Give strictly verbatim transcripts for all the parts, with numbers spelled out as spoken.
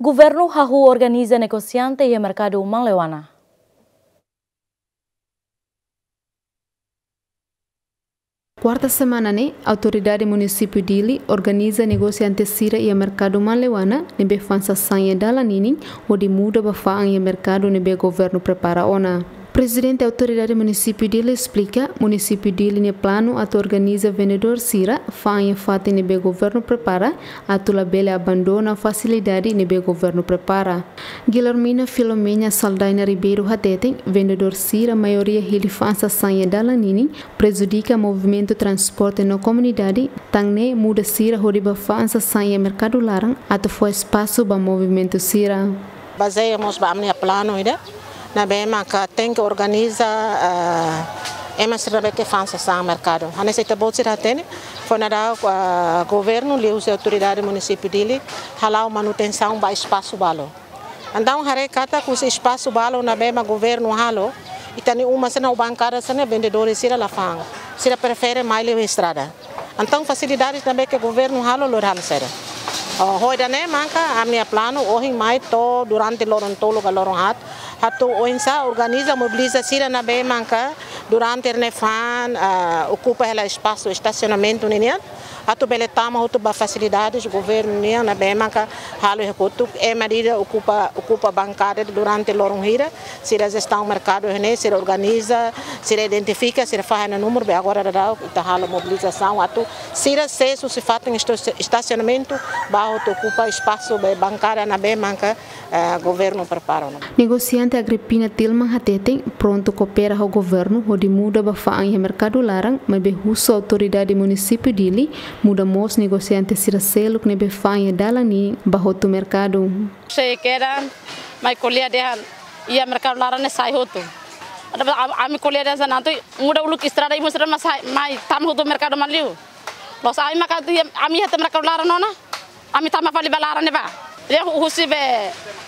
Governu hahú organiza negosiante iha merkadu Manleuana. Kuarta semana ne'e, Autoridade Munisípiu Dili organiza negosiante sira iha merkadu Manleuana ne'ebé fa'an sasán iha dalan ninin hodi muda ba fa'an iha merkadu ne'ebé governu prepara ona. Prezidente Autoridade Munisípiu Dili esplika, Munisípiu Dili nia planu atu organiza vendedór sira fa'an iha fatin ne'ebé governu prepara, atu labele abandona fasilidade ne'ebé governu prepara. Guilhermina Filomena Saldaina Ribeiro hateten, vendedór sira maioria hili fa'an sasán iha dalan ninin, prejudika movimentu transporte no komunidade, tan ne'e muda sira hodi ba fa'an sasán iha merkadu laran, atu fó espasu ba movimentu sira. Bazeia mós ba ami-nia planu ida, ne'ebé maka tenke organiza, ah, ema sira ne'ebé ke fa'an sasán merkadu. Hanesan ita-boot sira hatene, foin daudauk, ah, governu liuhusi Autoridade Munisípiu Dili hala'o manutensaun ba espasu balu. Entaun haree katak husi espasu balu ne'ebé mak governu halo, ita-nia uma sira-ne'e, bankada sira-ne'e, vendedór sira la fa'an. Sira prefere mai liu estrada. Entaun fasilidades ne'ebé ke governu halo, lori halo saida. Oh, ho ida-ne'e maka ami-nia planu ohin mai to'o durante loron tolu ka loron haat, atu oinsá organiza, mobiliza sira ne'ebé maka durante ne'e fa'an, ah, okupa hela espasu estasionamentu ninian, atu bele tama hotu ba fasilidades governu nian ne'ebé maka halo iha kotuk, ema ida okupa, okupa bankada durante loron hira, sira jestaun merkadu ne'e, sira organiza, sira identifika, sira fahe ona númeru, be agora daudauk ita halo mobilizasaun atu sira sees husi fatin esto-, estasionamentu, ba hotu okupa espasu be bankada ne'ebé maka, eh, governu prepara ona. Negosiante Agripina Tilman hateten, prontu koopera ho governu hodi muda ba fa'an iha merkadu laran, maibé husu Autoridade Munisípiu Dili muda mós negosiante sira seluk ne'ebé fa'an iha dalan ninin ba hotu merkadu. Sei kedan, mai ko'alia dehan, iha merkadu laran ne'e sai hotu. Ida-ne'e am-, ami ko'alia dehan hanesan ne'e, muda uluk estrada, imi sira mai sai, mai tama hotu merkadu mak liu. Loos ami maka tu iha, ami iha to'o merkadu laran ona. Ami tama fali ba laran ne'ebá. Dehan hu-, husi be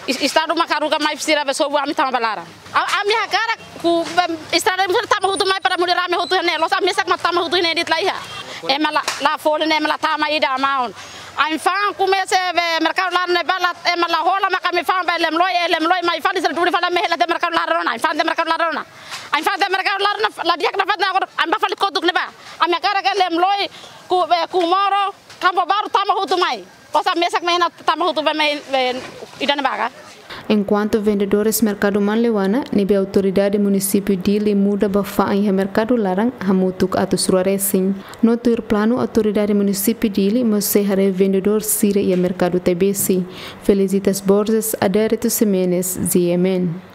es-, estadu maka haruka mai sira be sobu ami tama ba laran. A-, ami hakarak ku be estrada imi sira tama hotu mai para muda rame hotu ne'e. Loos ami mesak mak tama hotu ne'e de'it la iha. Ema la, la folin, ema la tama ida maun. Ami fa'an komesa be merkadu laran ne'ebá la, ema la hola maka ami fa'an ba Lemloi, eh, Lemloi mai fali sira duni fali ami hela to'o merkadu laran ona. Ami fa'an to'o merkadu laran ona. Ami fa'an to'o merkadu laran ona, la di'ak nafatin agora, ami bá fali kotuk ne'ebá. Ami hakarak ke Lemloi ku, eh, Comoro, Campo Baru tama hotu mai. Loos ami mesak mai ona tama hotu be mai, be ida-ne'ebá ka. Enkuantu vendedores merkadu Manleuana, ne'ebé Autoridade Munisípiu Dili muda ba fa'an iha merkadu laran, hamutuk atus rua resin. No tuir planu Autoridade Munisípiu Dili mós sei haree vendedór sira iha merkadu Tebesi. Felicitas Borges, Adérito Ximenes, G M N.